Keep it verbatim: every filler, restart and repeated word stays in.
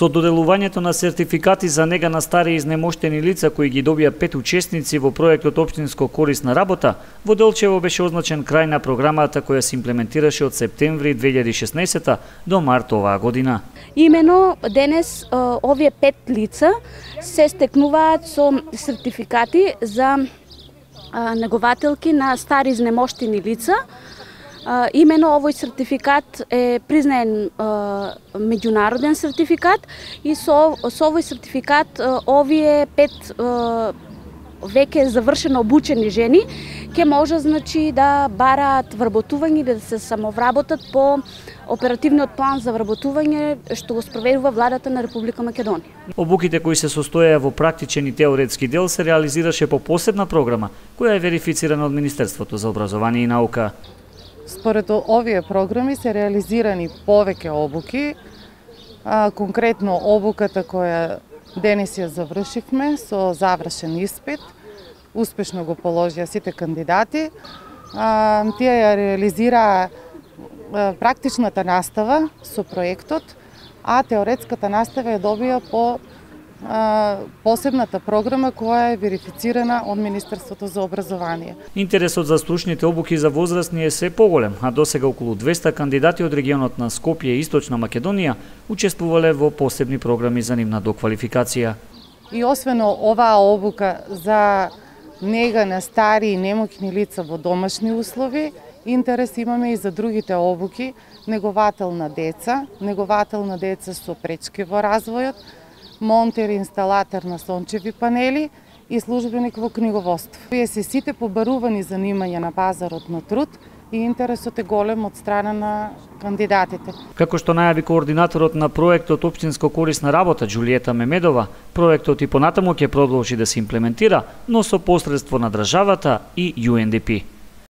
Со доделувањето на сертификати за нега на стари изнемоштени лица кои ги добија пет учесници во проектот Општинско корисна работа, во Делчево беше означен крај на програмата која се имплементираше од септември две илјади и шеснаесетта до март оваа година. Имено денес овие пет лица се стекнуваат со сертификати за негователки на стари изнемоштени лица. Имено овој сертификат е признаен меѓународен сертификат и со, со овој сертификат овие пет веќе завршено обучени жени ќе може значи да бараат вработување или да се самовработат по оперативниот план за вработување што го спроведува владата на Република Македонија. Обуките кои се состојаа во практичен и теоретски дел се реализираше по посебна програма која е верифицирана од Министерството за образование и наука. Според овие програми се реализирани повеќе обуки, а, конкретно обуката која денес ја завршивме со завршен испит, успешно го положија сите кандидати. А, тие ја реализираа практичната настава со проектот, а теоретската настава ја добија по посебната програма која е верифицирана од Министерството за образование. Интересот за стручните обуки за возрастни е се поголем, а досега околу двеста кандидати од регионот на Скопје и Источна Македонија учествувале во посебни програми за нивна доквалификација. И освен оваа обука за нега на стари и немоќни лица во домашни услови, интерес имаме и за другите обуки, неговател на деца, неговател на деца со пречки во развојот, монтер и инсталатор на сончеви панели и службеник во книговодство. Вие се сите побарувани занимања на пазарот на труд и интересот е голем од страна на кандидатите. Како што најави координаторот на проектот Општинско корисна работа Џулиета Мемедова, проектот и понатаму ќе продолжи да се имплементира, но со посредство на државата и Ю Ен Ди Пи.